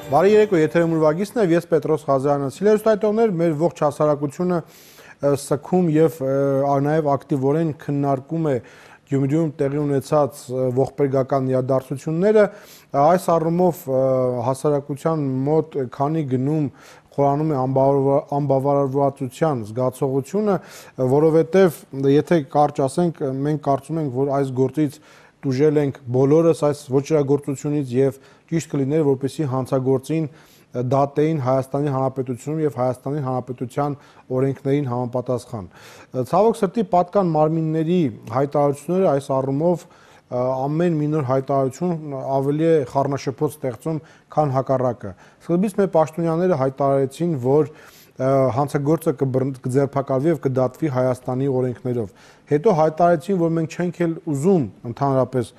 Բարի երեկո, եթերում ուրվագիծն է, ես Պետրոս Ղազարյանն եմ։ Սիրելիներ, մեր ողջ հասարակությունը սգում եւ նաեւ ակտիվորեն քննարկում է Գյումրիում տեղի ունեցած ողբերգական իրադարձությունները, այս առումով հասարակության մոտ քանի գնում խորանում է անբավարարվածության զգացողությունը, որովհետեւ եթե կարճ ասենք, մենք կարծում ենք, որ այս գործից դուժել ենք բոլորս այս ոչրագործությունից եւ ճիշտ կլիներ, որպեսզի հանցագործին դատեին Հայաստանի Հանրապետությունում եւ Հայաստանի Հանրապետության օրենքներին համապատասխան։ Ցավոք սրտի պատկան մարմինների հայտարարությունները այս առումով ամեն մի նոր հայտարարություն ավելի է խառնաշփոթ ստեղծում, քան հակառակը։ Սկզբից մեր պաշտոնյաները հայտարարեցին, որ հանցագործը կձերբակալվի եւ կդատվի Հայաստանի օրենքներով։ Հետո հայտարարեցին, որ մենք չենք էլ ուզում ընդհանրապես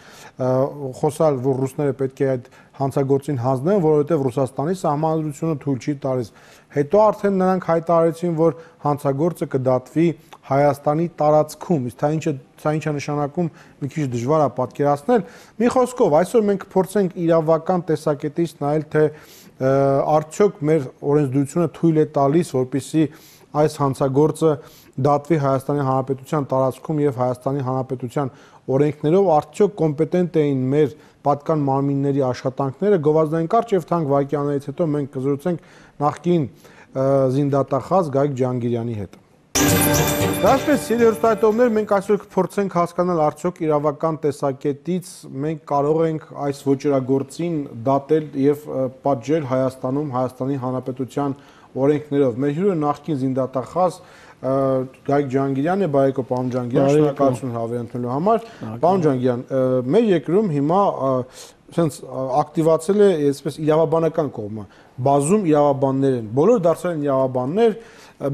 խոսալ, որ ռուսները պետք է այդ հանցագործին հանձնեն, որովհետեւ Ռուսաստանի սահմանադրությունը թույլ չի տալիս։ Հետո արդեն նրանք հայտարարեցին, որ հանցագործը կդատվի Հայաստանի տարածքում, իսկ սա ինչ է նշանակում, մի քիչ դժվար է պատկերացնել։ Մի խոսքով, այսօր մենք փորձենք իրավական տեսակետից նայել, թե արդյոք մեր օրենսդրությունը թույլ է տալիս, որպեսզի այս հանցագործը դատվի Հայաստանի Հանրապետության տարածքում եւ Հայաստանի Հանրապետության օրենքներով, արդյոք կոմպետենտ էին մեր պատկան մարմինների աշխատանքները։ Գովազդային կարճ եւ թանկ վայրկյաններից հետո մենք կզրուցենք նախկին զինդատախազ Գագիկ Ջհանգիրյանի հետ։ Դասպես սիրելիներ, մենք այսօր կփորձենք հասկանալ արդյոք իրավական տեսակետից մենք կարող ենք այս ոչրագործին դատել եւ պատժել Հայաստանում Հայաստանի Հանրապետության օրենքներով։ Մեր հյուրը նախկին զինդատախազ Գագիկ Ջհանգիրյանն է, բարեկո պարոն Ջհանգիրյան, շնորհակալություն հավեր ընդունելու համար։ Պարոն Ջհանգիրյան, մեր երկրում հիմա sense ակտիվացել է այսպես իրավաբանական կողմը, բազում իրավաբաններ են, բոլոր դարձել են իրավաբաններ,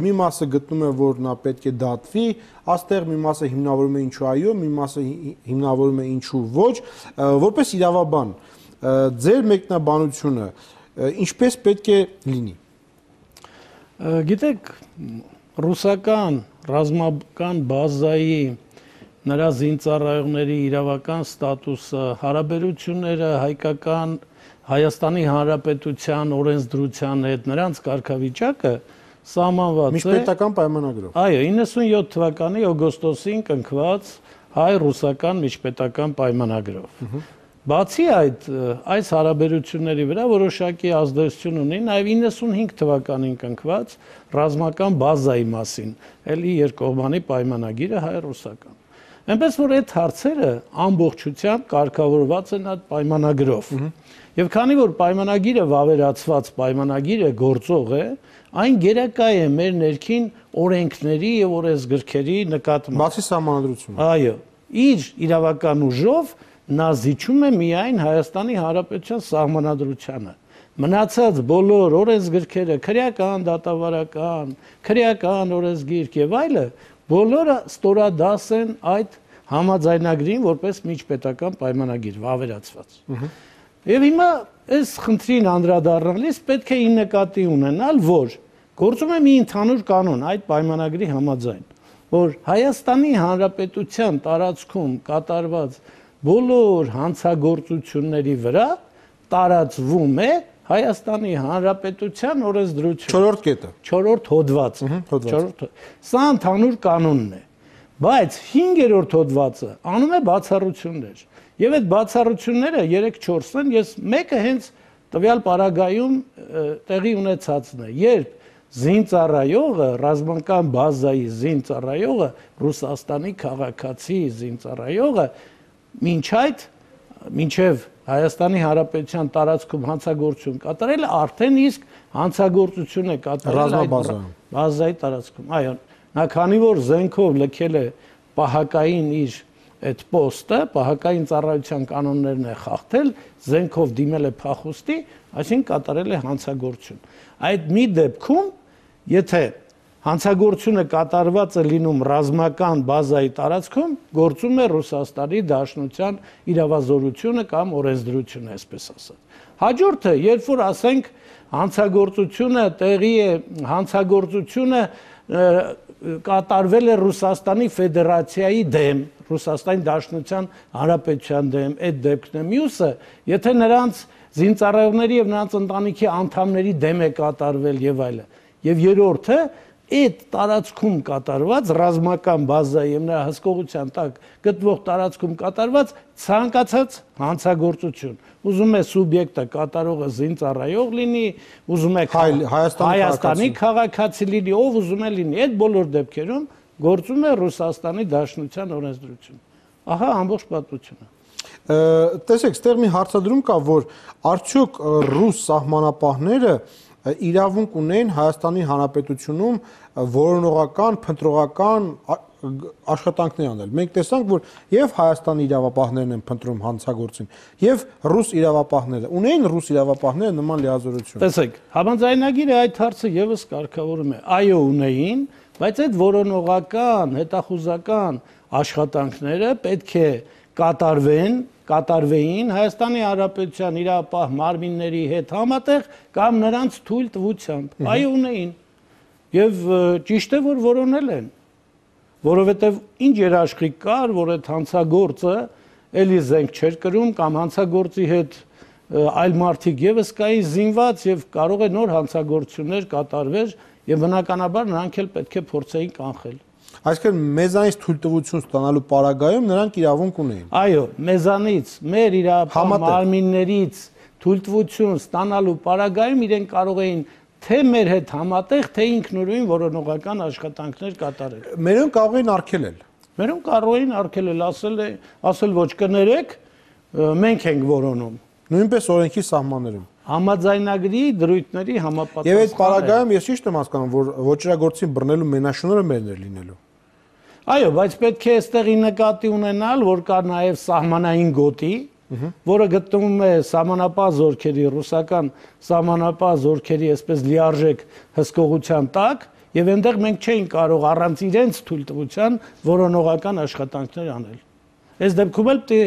մի մասը գտնում է, որ նա պետք է դատվի, աստեղ մի մասը հիմնավորում է ինչու այո, մի մասը հիմնավորում է ինչու ոչ, որպես իրավաբան, ձեր մեկնաբանությունը ինչպես պետք է լինի։ Գիտեք, ռուսական ռազմական բազայի նրա զինծառայողների իրավական ստատուսը, հարաբերությունները հայկական Հայաստանի Հանրապետության օրենսդրության հետ, նրանց կարգավիճակը սահմանված է միջպետական պայմանագրով։ Այո, 97 թվականի օգոստոսին կնքված հայ-ռուսական միջպետական պայմանագրով։ Բացի այս հարաբերությունների վրա որոշակի ազդեցություն ունի նաև 95 թվականին կնքված ռազմական բազայի մասին, էլի երկկողմանի պայմանագիրը հայ-ռուսական։ Այնպես որ այդ հարցերը ամբողջությամբ կարգավորված են այդ պայմանագրով։ Եվ քանի որ պայմանագիրը վավերացված պայմանագիրը գործող է, այն գերակա է մեր ներքին օրենքների եւ օրենսգրքերի նկատմամբ։ Բացի սահմանադրությունը։ Այո, իր իրավական ուժով նա զիջում է միայն Հայաստանի Հանրապետության սահմանադրությանը։ Մնացած բոլոր օրենսգրքերը, քրեական, դատավարական, քրեական օրենսգիրք եւ այլը, բոլորը ստորադաս են այդ համաձայնագրին որպես միջպետական պայմանագիր վավերացված։ Եվ հիմա այս խնդրին անդրադառնալիս պետք է նկատի ունենալ, որ գործում է մի ընդհանուր կանոն այդ պայմանագրի համաձայն, որ Հայաստանի Հանրապետության տարածքում կատարված բոլոր հանցագործությունների վրա տարածվում է Հայաստանի Հանրապետության օրենսդրությունը։ Չորրորդ կետը։ Չորրորդ հոդվածը։ Սա ընդհանուր կանոնն է։ Բայց 5-րդ հոդվածը անում է բացառություններ։ Եվ այդ բացառությունները 3-4 են, ես մեկը հենց տվյալ պարագայում տեղի ունեցածն է, երբ զինծառայողը, ռազմական բազայի զինծառայողը, Ռուսաստանի քաղաքացի զինծառայողը մինչև Հայաստանի Հանրապետության տարածքում հանցագործություն կատարել արդեն իսկ հանցագործություն է կատարել այդ բազայի տարածքում։ Այո, նա քանի որ զենքով լքել է պահակային իր այդ պոստը, պահակային ծառայության կանոններն է խախտել, զենքով դիմել է փախուստի, այսինքն կատարել է հանցագործություն։ Այդ մի դեպքում, եթե հանցագործությունը կատարված է լինում ռազմական բազայի տարածքում, գործում է Ռուսաստանի Դաշնության իրավազորությունը կամ օրենսդրությունը, այսպես ասած։ Հաջորդը, երբ որ ասենք հանցագործությունը կատարվել է Ռուսաստանի Ֆեդերացիայի դեմ, Ռուսաստանի Դաշնության Հանրապետության դեմ, այդ դեպքն է։ Մյուսը, եթե նրանց զինծառայողների եւ նրանց ընտանիքի անդամների դեմ է կատարվել եւ այլն։ Եվ երրորդը այդ տարածքում կատարված ռազմական բազայի եւ նրա հսկողության տակ գտնվող տարածքում կատարված ցանկացած հանցագործություն։ Ուզում է սուբյեկտը կատարողը զինծառայող լինի, ուզում է Հայաստանի քաղաքացի լինի, ով ուզում է լինի, այդ բոլոր դեպքերում գործում է Ռուսաստանի Դաշնության օրենսդրություն։ Ահա ամբողջ պատմությունը։ Տեսեք, ստեղ մի հարցադրում կա, որ արդյոք ռուս սահմանապահները իրավունք ունեն Հայաստանի Հանրապետությունում որոնողական, փնտրողական աշխատանքներ անել։ Մենք տեսանք, որ եւ Հայաստանի իրավապահներն են փնտրում հանցագործին, եւ ռուս իրավապահները ունեն ռուս իրավապահները նման լիազորություն։ Տեսեք, համաձայնագիրը այդ հարցը եւս կարգավորում է։ Այո, ունեին, բայց այդ որոնողական, հետախուզական աշխատանքները պետք է կատարվեին Հայաստանի Հանրապետության իրավապահ մարմինների հետ համատեղ կամ նրանց թույլ տվությամբ։ Այո, ունեին։ Եվ ճիշտ է, որ որոնել են, որովհետև ինչ երաշխիք կար, որ այդ հանցագործը էլի զենք չէր կրում կամ հանցագործի հետ այլ մարդիկ եւս կային զինված եւ կարող է նոր հանցագործություններ կատարվեր եւ բնականաբար նրանք էլ պետք է փորձեին կանխել։ Այսինքն մեզանից թույլտվություն ստանալու պարագայում նրանք իրավունք ունեին։ Այո, մեզանից, մեր իրավապահ մարմիններից թույլտվություն ստանալու պարագայում իրենք կարող էին թե մեր հետ համատեղ, թե ինքնուրույն որոնողական աշխատանքներ կատարել։ Մերոնք կարող էին արգելել։ Մերոնք կարող էին արգելել, ասել ոչ կներեք, մենք ենք որոնում։ Նույնպես օրենքի սահմաններում։ Համաձայնագրի դրույթների համապատասխան։ Եվ այդ պարագայում ես ճիշտ եմ հասկանում, որ ոչրագործին բռնելու մենաշնորհը մերն էր լինելու։ Այո, բայց պետք է այստեղի նկատի ունենալ, որ կա նաև սահմանային գոտի, որը գտնվում է սահմանապահ զորքերի, ռուսական սահմանապահ զորքերի այսպես լիարժեք հսկողության տակ, եւ այնտեղ մենք չէինք կարող առանց իրենց թույլտվության որոնողական աշխատանքներ անել։ Այս դեպքում էլ պետք է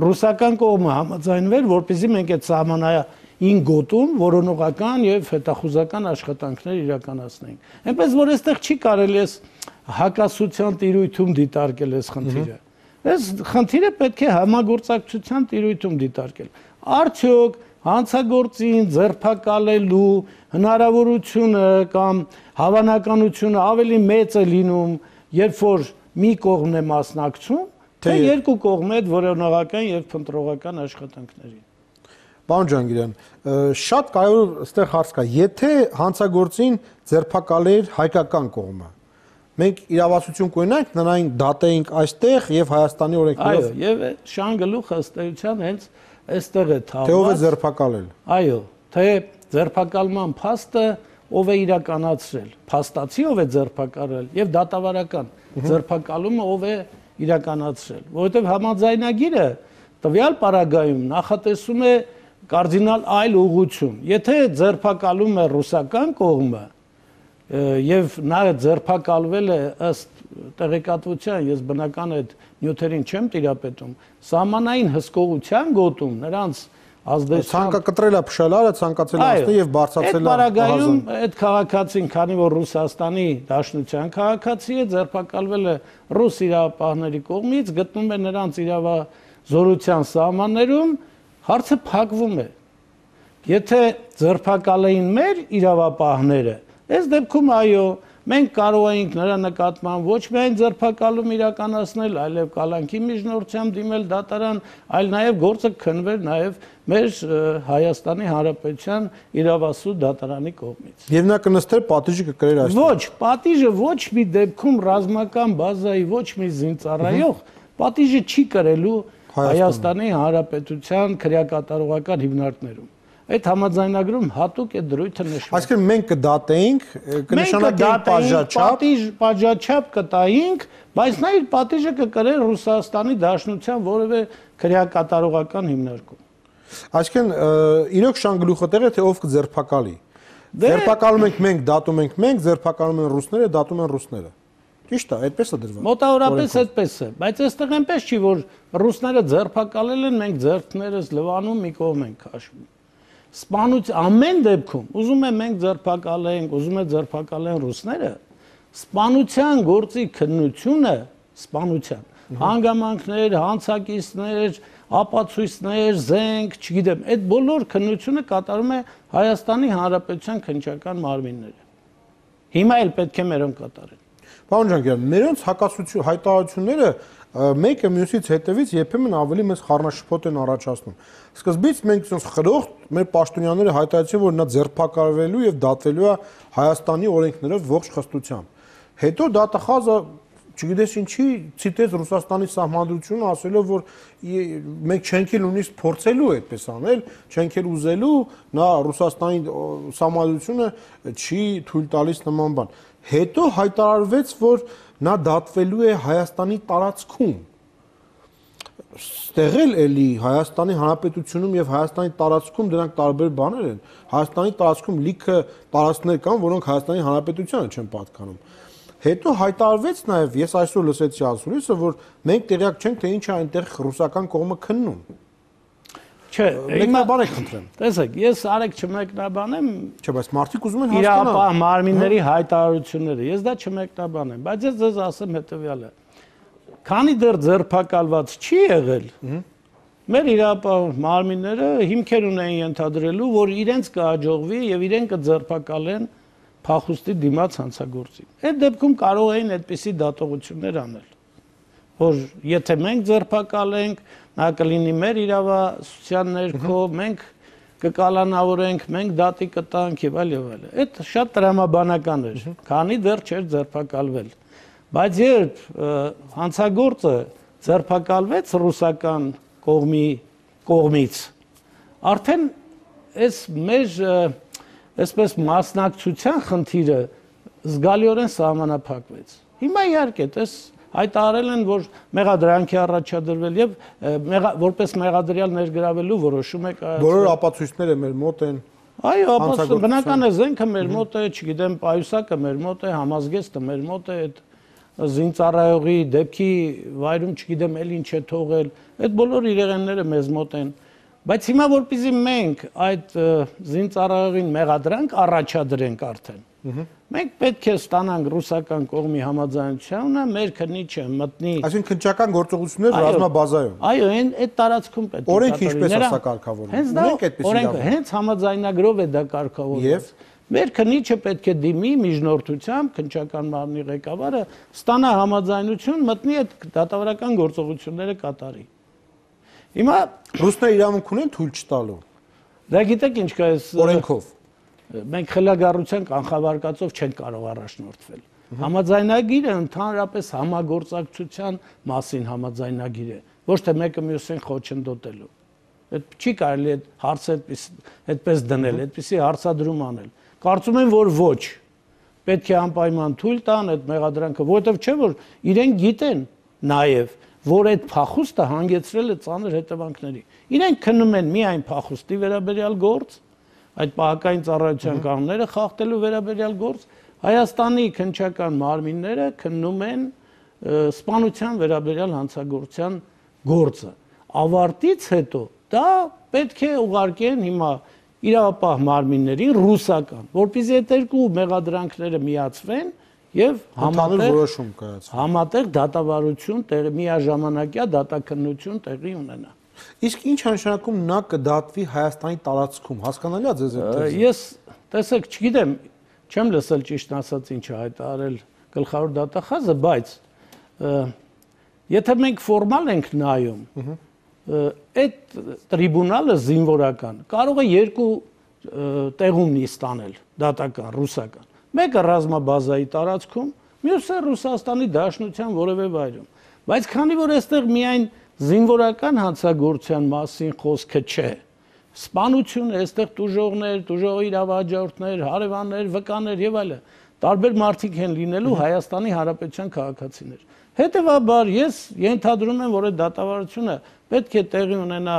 ռուսական կողմը համաձայնվեր, որպեսզի մենք այդ սահմանային գոտում որոնողական եւ հետախուզական աշխատանքներ իրականացնենք։ Այնպես որ այստեղ չի կարելի է հակասության տիրույթում դիտարկել այս խնդիրը։ Այս խնդիրը պետք է համագործակցության տիրույթում դիտարկել։ Արդյոք հանցագործին ձերբակալելու հնարավորությունը կամ հավանականությունը ավելի մեծ է լինում, երբ որ մի կողմն է մասնակցում, թե երկու կողմն է որոնողական եւ փնտրողական աշխատանքներին։ Պարոն Ջանգիրյան, շատ կարևոր այստեղ հարց կա, եթե հանցագործին ձերբակալեր հայկական կողմը, մենք իրավասություն կունենանք, նրան դատեինք այստեղ եւ Հայաստանի օրենքներով։ Այո, եւ շան գլուխը ըստ էության հենց այստեղ է թաղված։ Թե ով է ձերբակալել։ Այո, թե ձերբակալման փաստը ով է իրականացրել, փաստացի ով է ձերբակալել եւ դատավարական ձերբակալումը ով է իրականացրել, որովհետեւ համաձայնագիրը տվյալ պարագայում նախատեսում է կարդինալ այլ ուղղություն։ Եթե ձերբակալում է ռուսական կողմը եւ նա ձերբակալվել է ըստ տեղեկատվության, ես բնական այդ նյութերին չեմ տիրապետում, սահմանային հսկողության գոտում նրանց ազդեցության ցանկակտրել է փշալարը, ցանկացել է ասել եւ բարձրացել է։ Այդ պարագայում այդ քաղաքացին, քանի որ Ռուսաստանի Դաշնության քաղաքացի է, ձերբակալվել է ռուս իրավապահների կողմից, գտնում է նրանց իրավազորության սահմաններում, հարցը փակվում է։ Եթե ձերբակալեին մեր իրավապահները, այս դեպքում այո, մենք կարող էինք նրա նկատմամբ ոչ միայն ձերբակալում իրականացնել, այլև կալանքի միջնորդությամբ դիմել դատարան, այլ նաև գործը քննվեր նաև մեր Հայաստանի Հանրապետության իրավասու դատարանի կողմից։ Եվ նա կնստեր պատիժը կկրեր այստեղ։ Ոչ, պատիժը ոչ մի դեպքում ռազմական բազայի ոչ մի զինծառայող պատիժը չի կրելու Հայաստանի Հանրապետության քրեակատարողական հիմնարկներում։ Այդ համաձայնագրում հատուկ է դրույթը նշվում։ Այսինքն մենք կդատեինք, կնշանակեինք պատժաչափ կտայինք, բայց նա իր պատիժը կկրեր Ռուսաստանի Դաշնության որևէ քրեակատարողական հիմնարկում։ Այսինքն իրոք շան գլուխը տեղ է, թե ով կձերբակալի։ Ձերբակալում ենք մենք, դատում ենք մենք, ձերբակալում են ռուսները, դատում են ռուսները։ Ճիշտ է, այդպես է դրված։ Մոտավորապես այդպես է, բայց այստեղ այնպես չի, որ ռուսները ձերբակալել են, մենք ձեռքներս լվանում մի կողմ ենք քաշվում։ Ամեն դեպքում, ուզում եմ մենք ձերբակալենք, ուզում է ձերբակալեն ռուսները, սպանության գործի քննությունը, սպանության հանգամանքներ, հանցակիցներ, ապացույցներ, զենք, չգիտեմ, այդ բոլոր քննությունը կատարում է Հայաստանի Հանրապետության քննչական մարմինները։ Հիմա էլ պետք է մերոնք կատարեն։ Պարոն Ջանգյան, մերոնց հակասություն հայտարարությունները մեկը մյուսից հետևից երբեմն ավելի մեծ խառնաշփոթ են առաջացնում։ Սկզբից մենք ցույց խրոխտ մեր պաշտոնյաները հայտարարեցին, որ նա ձերբակալվելու եւ դատվելու է Հայաստանի օրենքներով ողջ խստությամբ։ Հետո դատախազը չգիտես ինչի ցիտեց Ռուսաստանի սահմանադրությունը, ասելով որ մենք չենք էլ նույնիսկ փորձելու այդպես անել, չենք էլ ուզելու, նա Ռուսաստանի սահմանադրությունը չի թույլ տալիս նման բան։ Հետո հայտարարվեց, որ նա դատվելու է Հայաստանի տարածքում։ Ստեղել էլի Հայաստանի Հանրապետությունում եւ Հայաստանի տարածքում դրանք տարբեր բաներ են։ Հայաստանի տարածքում լիքը տարածքներ կան, որոնք Հայաստանի Հանրապետությանը չեն պատկանում։ Հետո հայտարարվեց նաև, ես այսօր լսեցի ասուլիսը, որ մենք տեղյակ չենք, թե ինչ է այնտեղ ռուսական կողմը քննում։ Չէ, մեկնաբան եք խնդրեմ։ Տեսեք, ես արեք չմեկնաբանեմ։ Չէ, բայց մարդիկ ուզում են հասկանալ։ Իրապահ մարմինների հայտարարությունները, ես դա չմեկնաբանեմ, բայց ես ձեզ ասեմ հետեւյալը։ Քանի դեռ ձերբակալված չի եղել, մեր իրապահ մարմինները հիմքեր ունեն ենթադրելու, որ իրենց կհաջողվի եւ իրենք կձերբակալեն փախուստի դիմաց հանցագործին։ Այդ դեպքում կարող էին այդպիսի դատողություններ անել, որ եթե մենք ձերբակալենք, նա կլինի մեր իրավասության ներքո, մենք կկալանավորենք, մենք դատի կտանք եւ այլ եւ այլ։ Այդ շատ տրամաբանական էր, քանի դեռ չէր ձերբակալվել։ Բայց երբ հանցագործը ձերբակալվեց ռուսական կողմից, արդեն այս մեր այսպես մասնակցության խնդիրը զգալիորեն սահմանափակվեց։ Հիմա իհարկե, տես հայտարարել են, որ մեղադրանքի առաջադրվել եւ որպես մեղադրյալ ներգրավելու որոշում է կայացվել։ Բոլոր ապացույցները մեր մոտ են։ Այո, ապացույց բնական է, զենքը մեր մոտ է, չգիտեմ, պայուսակը մեր մոտ է, համազգեստը մեր մոտ է, այդ զինծառայողի դեպքի վայրում չգիտեմ էլ ինչ է թողել, այդ բոլոր իրեղենները մեզ մոտ են։ Բայց հիմա որպեսզի մենք այդ զինծառայողին մեղադրանք առաջադրենք արդեն, մենք պետք է ստանանք ռուսական կողմի համաձայնությունը, մեր քննիչը մտնի։ Այսինքն քննչական գործողություններ ռազմաբազայում։ Այո, այդ տարածքում պետք է։ Օրենքը ինչպես է սա կարգավորվում։ Ունենք այդպես իրավունք։ Հենց համաձայնագրով է դա կարգավորված։ Մեր քննիչը պետք է դիմի միջնորդությամբ, քննչական մարմնի ղեկավարը ստանա համաձայնություն, մտնի այդ դատավարական գործողությունները կատարի։ Հիմա ռուսները իրավունք ունեն թույլ չտալու։ Դա գիտեք ինչ կա այս օրենքով։ Մենք խելագարության կանխավարկածով չենք կարող առաջնորդվել։ Համաձայնագիրը ընդհանրապես համագործակցության մասին համաձայնագիր է, ոչ թե մեկը մյուսին խոչընդոտելու։ Այդ չի կարելի այդ հարցը այդպես դնել, այդպիսի հարցադրում անել։ Կարծում եմ, որ ոչ։ Պետք է անպայման թույլ տան այդ մեղադրանքը, որովհետև չէ որ իրենք գիտեն նաև որ այդ փախուստը հանգեցրել է ծանր հետևանքների։ Իրենք քննում են միայն փախուստի վերաբերյալ գործ, այդ պահակային ծառայության կանոնները խախտելու վերաբերյալ գործ, Հայաստանի քննչական մարմինները քննում են սպանության վերաբերյալ հանցագործության գործը։ Ավարտից հետո դա պետք է ուղարկեն հիմա իրավապահ մարմիններին ռուսական, որպեսզի այդ երկու մեղադրանքները միացվեն եւ համատեղ դատավարություն միաժամանակյա դատաքննություն տեղի ունենա։ Իսկ ինչ նշանակում նա կդատվի Հայաստանի տարածքում, հասկանալի է ձեզ այդ։ Ես տեսեք, չգիտեմ, չեմ լսել ճիշտ ասած ինչ է հայտարարել գլխավոր դատախազը, բայց եթե մենք ֆորմալ ենք նայում, այդ տրիբունալը զինվորական կարող է երկու տեղում ստանել դատական, ռուսական։ Մեկը ռազմաբազայի տարածքում, մյուսը Ռուսաստանի Դաշնության որևէ վայրում։ Բայց քանի որ այստեղ միայն զինվորական հանցագործության մասին խոսքը չէ, սպանություն է, այստեղ տուժողներ, տուժողի իրավահաջորդներ, հարևաններ, վկաներ եւ այլն, տարբեր մարդիկ են լինելու Հայաստանի Հանրապետության քաղաքացիներ։ Հետևաբար ես ենթադրում եմ, որ այդ դատավարությունը պետք է տեղի ունենա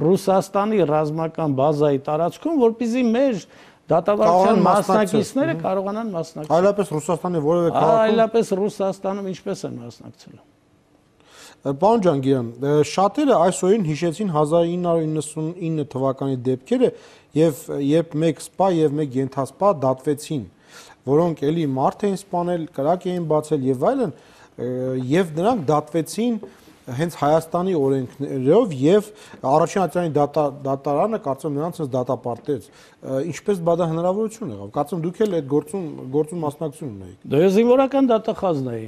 Ռուսաստանի ռազմական բազայի տարածքում, որպեսզի մեր դատավարության մասնակիցները կարողանան մասնակցել։ Այլապես Ռուսաստանի որևէ քաղաքում։ Այլապես Ռուսաստանում ինչպես են մասնակցելու։ Պարոն Ջանգիրյան, շատերը այս օրին հիշեցին 1999 թվականի դեպքերը եւ երբ մեկ սպա եւ մեկ ենթասպա դատվեցին, որոնք էլի մարդ էին սպանել, կրակ էին բացել եւ այլն, եւ նրանք դատվեցին հենց Հայաստանի օրենքներով եւ առաջին ատյանի դատարանը կարծում նրանց դատապարտեց ինչպես դա հնարավորություն եղավ կարծում դուք էլ այդ գործում մասնակցություն ունեիք Դե զինվորական դատախազն էի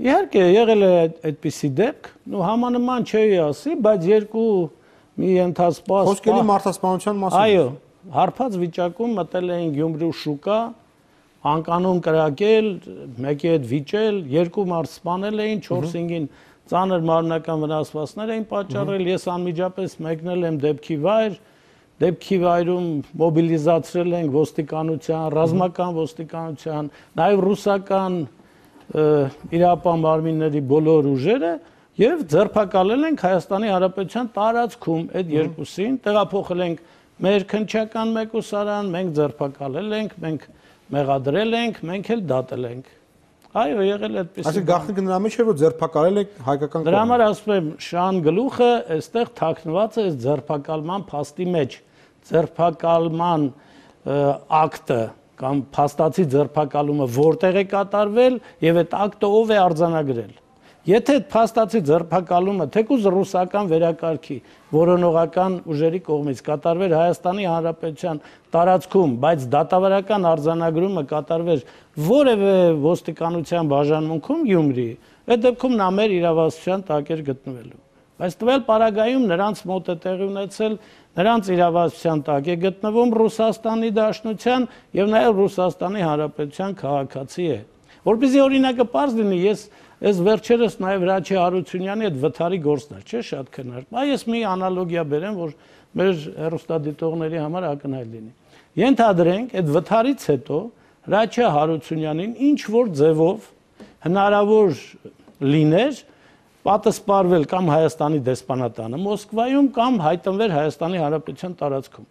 իհարկե եղել է այդպիսի դեպք ու համանման չի ասի բայց երկու մի ընթացված խոսքերի մարդասպանության մասին այո հարբած վիճակում մտել էին Գյումրու շուկա անկանոն կրակել մեկի հետ վիճել երկու մարդ սպանել էին 4-5-ին ծանր մարմնական վնասվածքներ էին պատճառել ես անմիջապես մեկնել եմ դեպքի վայրում մոբիլիզացրել ենք ոստիկանության ռազմական ոստիկանության նաև ռուսական իրապահ մարմինների բոլոր ուժերը եւ ձերբակալել ենք Հայաստանի Հանրապետության տարածքում այդ երկուսին տեղափոխել ենք մեր քննչական մեկուսարան մենք ձերբակալել ենք մենք մեղադրել ենք մենք էլ դատել ենք այո եղել է այդպես Այսինքն գաղտնիքը նրա մեջ է որ ձերբակալել եք հայկական Դրա համար ասում եմ շան գլուխը այստեղ թաքնված է ձերբակալման փաստի մեջ ձերբակալման ակտը կամ փաստացի ձերբակալումը որտեղ է կատարվել եւ այդ ակտը ով է արձանագրել Եթե այդ փաստացի ձերբակալումը թեկուզ ռուսական վերակարգի որոնողական ուժերի կողմից կատարվեր Հայաստանի Հանրապետության տարածքում, բայց դատավարական արձանագրումը կատարվեր որևէ ոստիկանության բաժանմունքում Գյումրի, այդ դեպքում նա մեր իրավասության տակ էր գտնվելու։ Բայց տվյալ պարագայում նրանց մոտ է տեղի ունեցել, նրանց իրավասության տակ է գտնվում Ռուսաստանի Դաշնության եւ նաեւ Ռուսաստանի Հանրապետության քաղաքացի է։ Որպեսզի օրինակը պարզ լինի, ես վերջերս նաև Հրաչի Հարությունյանի այդ վթարի գործն էր, չէ՞ շատ քննարկում։ Այս մի անալոգիա բերեմ, որ մեր հեռուստադիտողների համար ակնհայտ լինի։ Ենթադրենք, այդ վթարից հետո Հրաչի Հարությունյանին ինչ որ ձևով հնարավոր լիներ պատասպարվել կամ Հայաստանի դեսպանատանը Մոսկվայում կամ հայտնվել Հայաստանի Հանրապետության տարածքում։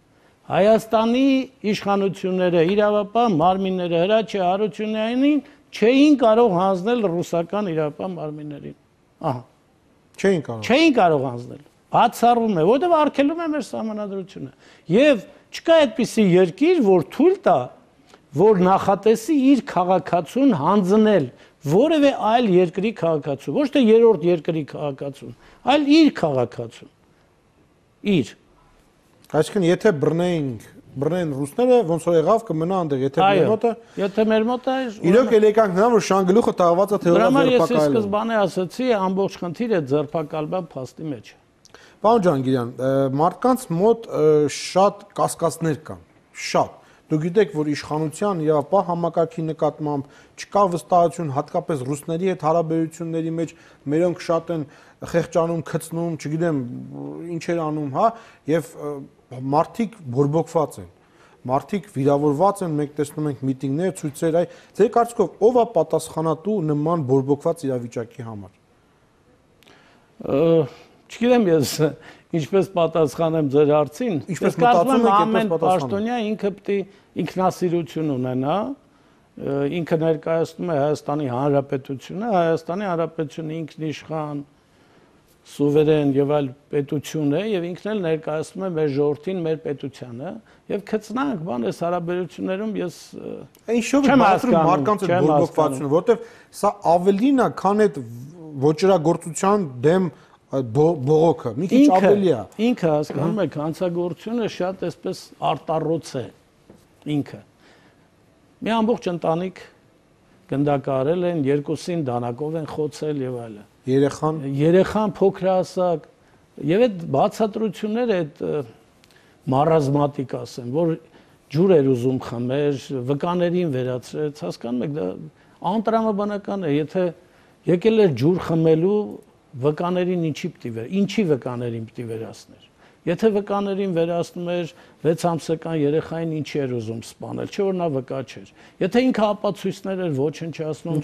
Հայաստանի իշխանությունները, իրավապահ մարմինները Հրաչի Հարությունյանին չէին կարող հանձնել ռուսական իրապահ մարմիններին։ Ահա։ Չէին կարող հանձնել։ Բացառվում է, որտեղ արգելում է մեր սահմանադրությունը։ Եվ չկա այդպիսի երկիր, որ թույլ տա, որ նախատեսի իր քաղաքացուն հանձնել որևէ այլ երկրի քաղաքացու, ոչ թե երրորդ երկրի քաղաքացուն, այլ իր քաղաքացուն։ Իր։ Այսինքն, եթե բռնեն ռուսները, ոնց որ եղավ կմնա այնտեղ, եթե մեր մոտ է, իրոք էլ եկանք նրան, որ շանգլուխը տաղված է թեորիա ձերբակալել։ Ես սկզբանե ասացի, ամբողջ խնդիրը ձերբակալման փաստի մեջ է։ Պարոն Ջանգիրյան, մարդկանց մոտ շատ կասկածներ կան, շատ։ Դուք գիտեք, որ իշխանության իրավապահ համակարգի նկատմամբ չկա վստահություն, հատկապես ռուսների հետ հարաբերությունների մեջ մերոնք շատ են խեղճանում, քծնում, չգիտեմ, ինչեր անում, հա, եւ մարդիկ բորբոքված են, մարդիկ վիրավորված են, մենք տեսնում ենք միտինգներ, ցույցեր, այ ձեր կարծիքով ով է պատասխանատու նման բորբոքված իրավիճակի համար։ Չգիտեմ ես ինչպես պատասխանեմ ձեր հարցին։ Ինչպես մտածում եք, ամեն պաշտոնյա ինքը պետք է ինքնասիրություն ունենա, ինքը ներկայացնում է Հայաստանի Հանրապետությունը, Հայաստանի Հանրապետությունը ինքնիշխան սուվերեն եւ այլ պետություն է եւ ինքն էլ ներկայացնում է մեր ժողովրդին, մեր պետությանը եւ քծնանք բան էս հարաբերություններում ես ինչով է մարդկանց այդ բորբոքվածությունը, որովհետեւ սա ավելին է, քան այդ ոչրագործության դեմ բողոքը, մի քիչ ավելի է։ Ինքը հասկանում եք, հանցագործությունը շատ էսպես արտառոց է ինքը։ Մի ամբողջ ընտանիք գնդակարել են, երկուսին դանակով են խոցել եւ այլն։ Երեխան փոքրահասակ եւ այդ բացատրությունները այդ մարազմատիկ ասեմ, որ ջուր էր ուզում խմեր, վկաներին վերացրեց, հասկանում եք, դա անտրամաբանական է, եթե եկել էր ջուր խմելու վկաներին ինչի վկաներին պիտի վերացներ։ Եթե վկաներին վերացնում էր 6 ամսական երեխային ինչի էր ուզում սպանել, չէ՞ որ նա վկա չէր։ Եթե ինքը ապացույցներ էր ոչնչացնում,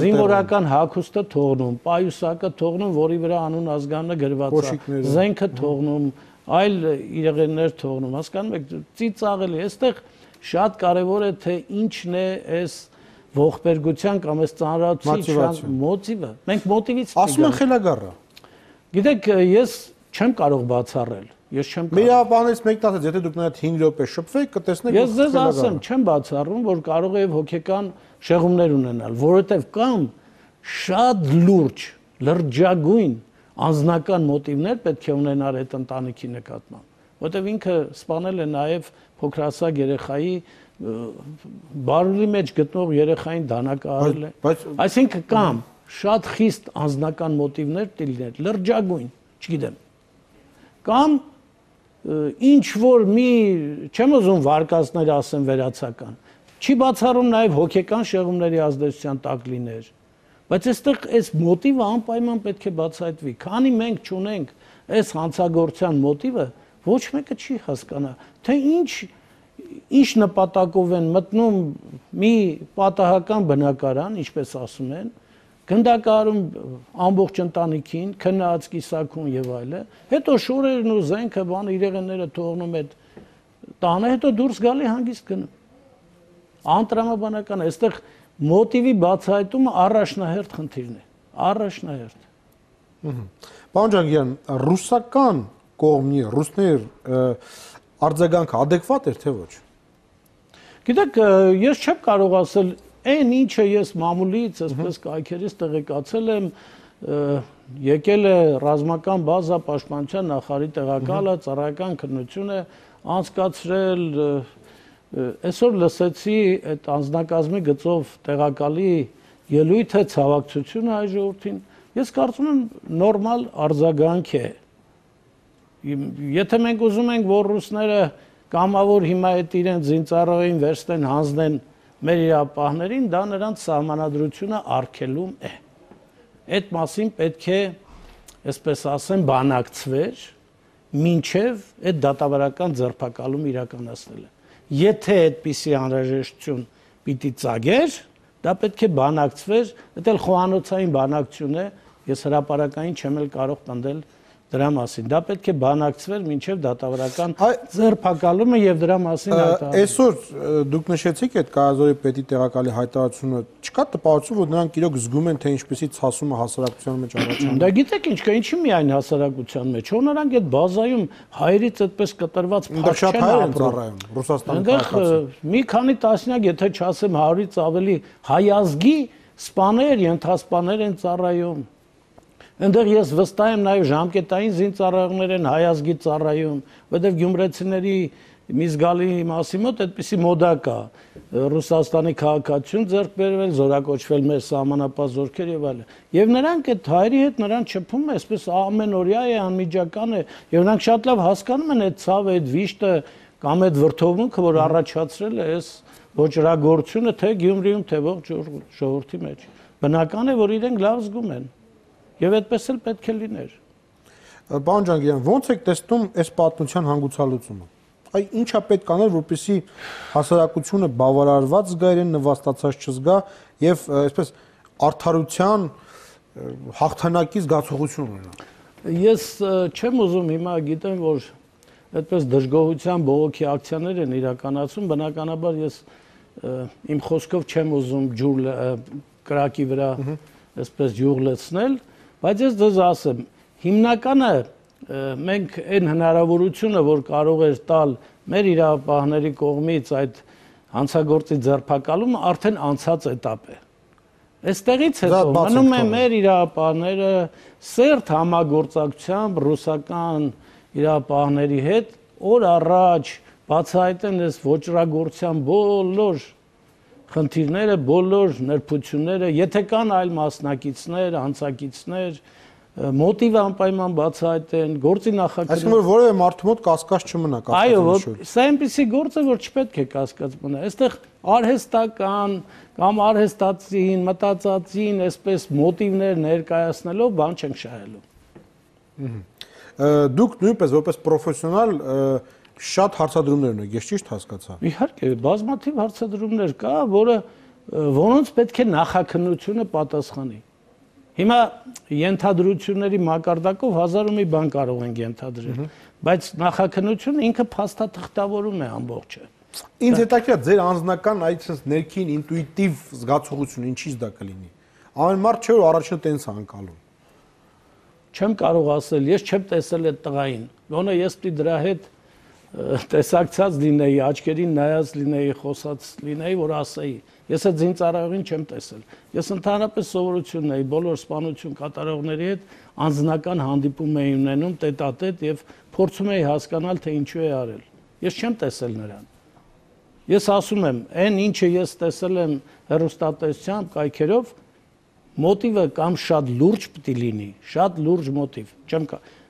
զինվորական հագուստը թողնում, պայուսակը թողնում, որի վրա անուն ազգանունը գրված է, զենքը թողնում, այլ իրեղեններ թողնում, հասկանում եք, ծիծաղելի, այստեղ շատ կարևոր է թե ինչն է այս ողբերգության կամ այս ծանրացուցիչ մոտիվը։ Մենք մոտիվից ասում են խելագարը։ Գիտեք, ես չեմ կարող բացառել։ Ես չեմ Մեր իրավապահներից մեկն ասաց, եթե դուք նայեք 5 րոպե շփվեք, կտեսնեք Ես ձեզ ասեմ, չեմ բացառում, որ կարող է հոգեկան շեղումներ ունենալ, որովհետև կամ շատ լուրջ, լրջագույն անձնական մոտիվներ պետք է ունենար այդ ընտանիքի նկատմամբ, որովհետև ինքը սպանել է նաև փոքրասակ երեխայի բարուրի մեջ գտնող երեխային դանակահարել է։ Այսինքն կամ շատ խիստ անձնական մոտիվներ տիլներ, լրջագույն, չգիտեմ։ Կամ ինչ որ մի չեմ ուզում վարկածներ ասեմ վերացական չի բացառում նաև հոգեկան շեղումների ազդեցության տակ լիներ բայց այստեղ այս մոտիվը անպայման պետք է բացահայտվի քանի մենք չունենք այս հանցագործության մոտիվը ոչ մեկը չի հասկանա թե ինչ նպատակով են մտնում մի պատահական բնակարան ինչպես ասում են գնդակարում ամբողջ ընտանիքին, քնած կիսակուն եւ այլը, հետո շորերն ու զենքը բան իրեղենները թողնում այդ տանը, հետո դուրս գալի հանգիստ գնում։ Անտրամաբանական է, այստեղ մոտիվի բացահայտումը առաջնահերթ խնդիրն է, առաջնահերթ։ Պարոն Ջանգյան, ռուսական կողմի ռուսներ արձագանքը adekvat էր թե ոչ։ Գիտեք, ես չեմ կարող ասել Այն ինչը ես մամուլից, այսպես կայքերից տեղեկացել եմ, եկել է ռազմական բազա պաշտպանության նախարարի տեղակալը, ծառայական քննությունը անցկացրել, այսօր լսեցի այդ անձնակազմի գծով տեղակալի ելույթը, ցավակցությունը այ ժողովրդին, ես կարծում եմ նորմալ արձագանք է։ Եթե մենք ուզում ենք, որ ռուսները կամավոր հիմա այդ իրենց զինծառայողին վերցնեն, հանձնեն մեր իրավապահներին, դա նրանց սահմանադրությունը արգելում է։ Այդ մասին պետք է, այսպես ասեմ, բանակցվեր, մինչև այդ դատավարական ձերբակալումը իրականացնելը։ Եթե այդպիսի անհրաժեշտություն պիտի ծագեր, դա պետք է բանակցվեր, դա էլ խոհանոցային բանակցություն է, ես հրապարակային չեմ էլ կարող պնդել դրա մասին։ Դա պետք է բանակցվեր մինչև դատավարական ձերբակալումը եւ դրա մասին հայտարարել։ Այսօր դուք նշեցիք այդ Կայազորի պետի տեղակալի հայտարարությունը, չկա տպավորություն, որ նրանք իրոք զգում են, թե ինչպեսի ցասումը հասարակության մեջ առաջանում։ Դա գիտեք ինչ կա, ինչի միայն հասարակության մեջ, որ նրանք այդ բազայում հայերից այդպես կտրված փակ չեն ապրում, Ռուսաստանի քաղաքացի։ Մի քանի տասնյակ, եթե չասեմ 100-ից ավելի հայազգի սպաներ, ենթասպաներ են ծառայում։ Այնտեղ ես վստահ եմ նաև ժամկետային զինծառայողներ են հայազգի ծառայում, որտեղ գյումրեցիների մի զգալի մասի մոտ այդպիսի մոդա կա Ռուսաստանի քաղաքացիություն ձեռք բերվել, զորակոչվել մեր սահմանապահ զորքեր եւ այլն։ Եվ նրանք այդ հայերի հետ նրան չփում է, այսպես ամենօրյա է, անմիջական է, եւ նրանք շատ լավ հասկանում են այդ ցավը, այդ վիշտը կամ այդ վրթովմունքը, որ առաջացրել է այս ոչրագործությունը թե Գյումրիում, թե ողջ ժողովրդի մեջ։ Բնական է, որ իրենք լավ զգում են։ Եվ այդպես էլ պետք է լիներ։ Պարոն Ջանգյան, ո՞նց եք տեսնում այս պատմության հանգուցալուծումը։ Այ ինչա պետք անել, որպեսզի հասարակությունը բավարարված զգա իրեն նվաստացած չզգա եւ այսպես արդարության հաղթանակի զգացողություն ունենա։ Ես չեմ ուզում հիմա գիտեմ, որ այդպես դժգոհության բողոքի ակցիաներ են իրականացում, բնականաբար ես իմ խոսքով չեմ ուզում ջուր կրակի վրա այսպես յուղ լցնել, բայց ես դες ասեմ, հիմնականը մենք այն հնարավորությունը, որ կարող էր տալ մեր իրավապահների կողմից այդ հանցագործի ձերբակալումը, արդեն անցած էտապ է։ Այստեղից հետո մնում է մեր իրավապահները սերտ համագործակցությամբ ռուսական իրավապահների հետ օր առաջ բացահայտեն այս ոչրագործության բոլոր խնդիրները, բոլոր նրբությունները, եթե կան այլ մասնակիցներ, հանցակիցներ, մոտիվը անպայման բացահայտեն, գործի նախագծում։ Այսինքն որ որևէ մարդու մոտ կասկած չմնա, այո, սա այնպեսի գործ է, որ չպետք է կասկած մնա։ Այստեղ արհեստական կամ արհեստացին, մտածածին, այսպես մոտիվներ ներկայացնելով բան չենք շահելու։ Դուք նույնպես որպես պրոֆեսիոնալ շատ հարցադրումներ ունեք, ես ճիշտ հասկացա։ Իհարկե, բազմաթիվ հարցադրումներ կա, որոնց պետք է նախաքննությունը պատասխանի։ Հիմա ենթադրությունների մակարդակով 1000 ու մի բան կարող ենք ենթադրել, բայց նախաքննությունը ինքը փաստաթղթավորում է ամբողջը։ Ինձ հետաքրքիր ձեր անձնական այսպես ներքին ինտուիտիվ զգացողությունը ինչից դա կլինի։ Ամեն մարդ չէ որ առաջինը տենց անկալում։ չեմ կարող ասել, ես չեմ տեսել այդ տղային։ Գոնե ես պիտի դրա հետ տեսակցած լինեի, աչքերին նայած լինեի, խոսած լինեի, որ ասեի։ Ես այդ զինծառայողին չեմ տեսել։ Ես ընդհանրապես սովորություն ունեի բոլոր սպանություն կատարողների հետ անձնական հանդիպում էի ունենում տետատետ եւ փորձում էի հասկանալ, թե ինչու է արել։ Ես չեմ տեսել նրան։ Ես ասում եմ, այն ինչը ես տեսել եմ հեռուստատեսությամբ, կայքերով, մոտիվը կամ շատ լուրջ պիտի լինի, շատ լուրջ մոտիվ։ Չեմ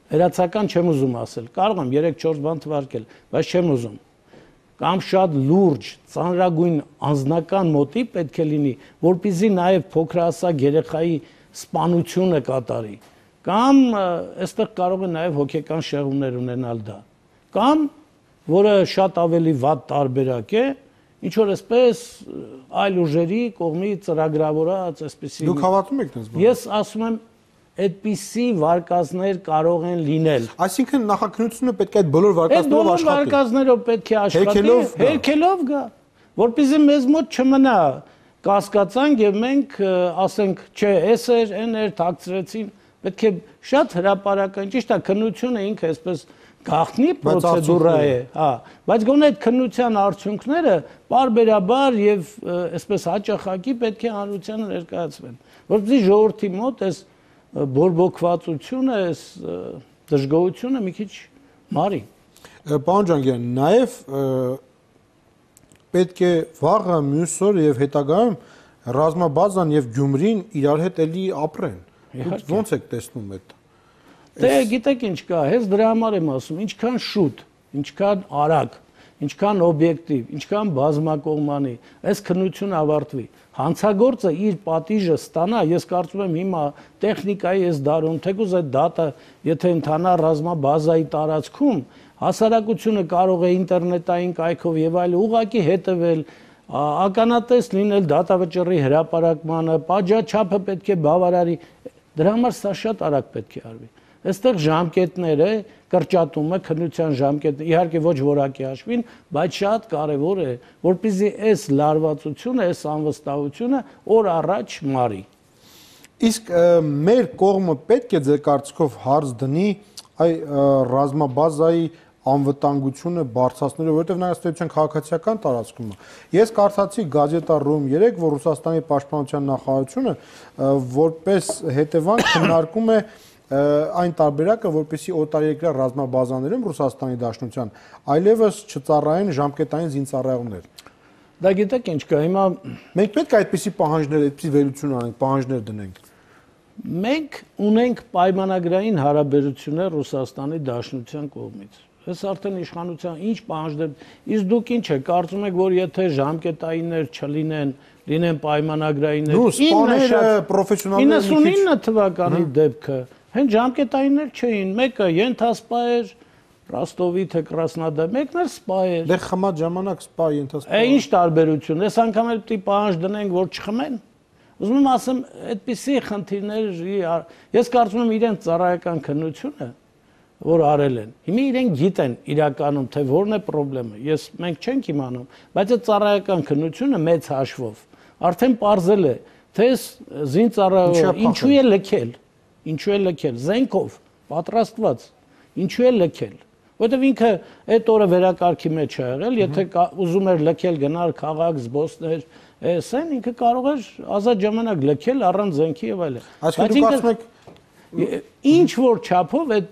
վերացական չեմ ուզում ասել։ Կարող եմ 3-4 բան թվարկել, բայց չեմ ուզում։ Կամ շատ լուրջ, ծանրագույն անձնական մոտիվ պետք է լինի, որպեսզի նաև փոքրահասակ երեխայի սպանությունը կատարի։ Կամ այստեղ կարող է նաև հոգեկան շեղումներ ունենալ դա։ Կամ որը շատ ավելի վատ տարբերակ է, ինչ որ այսպես այլ ուժերի կողմից ծրագրավորած այսպեսի։ Դուք հավատում եք դες բանը։ Ես ասում եմ, այդպիսի վարկածներ կարող են լինել։ Այսինքն նախաքննությունը պետք է այդ բոլոր վարկածներով աշխատի։ Բոլոր վարկածներով պետք է աշխատի, հերքելով գա, որպեսզի մեզ մոտ չմնա կասկածանք եւ մենք ասենք, չէ, էս էր, այն էր, թաքցրեցին, պետք է շատ հրապարական, ճիշտ է, քննությունը ինքը այսպես գաղտնի պրոցեդուրա է, հա, բայց գոնե այդ քննության արդյունքները բարբերաբար եւ այսպես հաճախակի պետք է հանրությանը ներկայացվեն, որպեսզի ժողովրդի մոտ այս բորբոքվածությունը, այս դժգոհությունը մի քիչ մարի։ Պարոն Ջանգյան, նաեւ պետք է վաղը մյուս օր եւ հետագայում ռազմաբազան եւ Գյումրին իրար հետ էլի ապրեն։ Ոնց եք տեսնում այդ։ Դե գիտեք ինչ կա, հենց դրա համար եմ ասում, ինչքան շուտ, ինչքան արագ, ինչքան օբյեկտիվ, ինչքան բազմակողմանի, այս քննությունը ավարտվի։ Հանցագործը իր պատիժը ստանա, ես կարծում եմ հիմա տեխնիկայի այս դարում, թեկուզ այդ դատը, եթե ընթանա ռազմաբազայի տարածքում, հասարակությունը կարող է ինտերնետային կայքով եւ այլ ուղղակի հետևել, ականատես լինել դատավճռի հրապարակմանը, պատժաչափը պետք է բավարարի, դրա համար սա շատ արագ պետք է արվի։ Այստեղ ժամկետները, կրճատումը, քննության ժամկետը, իհարկե ոչ որակի հաշվին, բայց շատ կարևոր է, որպեսզի այս լարվածությունը, այս անվստահությունը օր առաջ մարի։ Իսկ մեր կողմը պետք է ձեր կարծիքով հարց դնի այ ռազմաբազայի անվտանգությունը բարձրացնելու, որովհետև նա ըստեյության քաղաքացիական տարածքում է։ Ես կարդացի Գազետա.ru-ում 3, որ Ռուսաստանի պաշտպանության նախարարությունը որպես հետևանք քննարկում է այն տարբերակը, որպեսզի օտարերկրյա ռազմաբազաներում Ռուսաստանի Դաշնության այլևս չծառայեն ժամկետային զինծառայողներ։ Դա գիտեք ինչ կա, հիմա մենք պետք է այդպիսի պահանջներ, այդպիսի վերություն անենք, պահանջներ դնենք։ Մենք ունենք պայմանագրային հարաբերություններ Ռուսաստանի Դաշնության կողմից։ Այս արդեն իշխանության ինչ պահանջներ, իսկ դուք ինչ եք կարծում եք, որ եթե ժամկետայիններ չլինեն, լինեն պայմանագրայիններ, 99 թվականի դեպքը, հենց ժամկետայիններ չէին, մեկը ենթասպա էր, Ռոստովի թե Կրասնոդար, մեկն էր սպա էր։ Դե խմած ժամանակ սպա ենթասպա։ Ինչ տարբերություն, այս անգամ էլ պիտի պահանջ դնենք, որ չխմեն։ Ուզում եմ ասեմ, այդպիսի խնդիրներ, ես կարծում եմ իրենց ծառայական քննությունը, որ արել են։ Հիմա իրենք գիտեն իրականում, թե որն է խնդրեմը։ Մենք չենք իմանում, բայց այդ ծառայական քննությունը մեծ հաշվով արդեն պարզել է, թե զինծառայողը ինչու է լքել, զենքով պատրաստված, ինչու է լքել։ Որտեւ ինքը այդ օրը վերակարգի մեջ է եղել, եթե ուզում էր լքել գնալ քաղաք, զբոսներ, ասեն ինքը կարող էր ազատ ժամանակ լքել առանց զենքի եւ այլն։ Այսինքն դուք ասում եք ինչ որ չափով այդ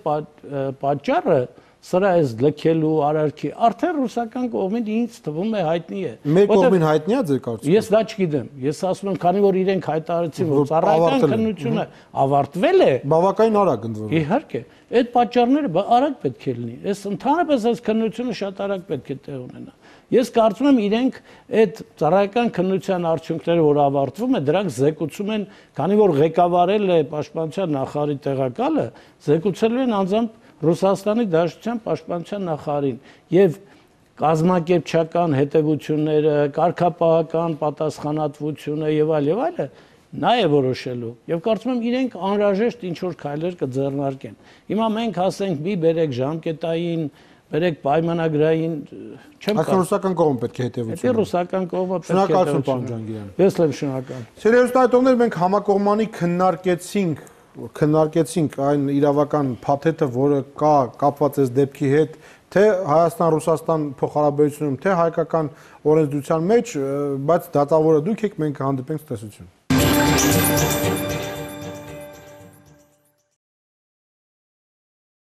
պատճառը սրա այս լքելու արարքի արդեն ռուսական կողմից ինձ թվում է հայտնի է։ Մեր կողմին հայտնի է ձեր կարծիքով։ Ես դա չգիտեմ։ Ես ասում եմ, քանի որ իրենք հայտարարեցին, որ ծառայական քննությունը ավարտվել է, բավականին արագ ընդ որում։ Իհարկե, այդ պատճառները արագ պետք է լինի։ Այս ընդհանրապես այս քննությունը շատ արագ պետք է տեղ ունենա։ Ես կարծում եմ իրենք այդ ծառայական քննության արդյունքները, որ ավարտվում է, դրանք զեկուցում են, քանի որ ղեկավարել է պաշտպանության նախարարի տեղակալը, զեկուցելու են անձամբ Ռուսաստանի Դաշնության պաշտպանության նախարարին եւ կազմակերպչական հետևությունները, կարգապահական պատասխանատվությունը եւ այլը նա է որոշելու եւ կարծում եմ իրենք անհրաժեշտ ինչ որ քայլեր կձեռնարկեն։ Հիմա մենք ասենք՝ մի բերեք ժամկետային, բերեք պայմանագրային, չեմ կարծում։ Ռուսական կողմը պետք է հետևություն։ Դա ռուսական կողմը պետք է։ Շնորհակալություն, պարոն Ջանգիրյան։ Ես եմ շնորհակալ։ Սիրելի հեռուստադիտողներ, մենք համակողմանի քննարկեցինք քննարկեցինք այն իրավական փաթեթը, որը կա կապված է դեպքի հետ, թե Հայաստան-Ռուսաստան փոխհարաբերությունում, թե հայկական օրենսդրության մեջ, բայց դատավորը դուք եք, մենք հանդիպենք, տեսություն։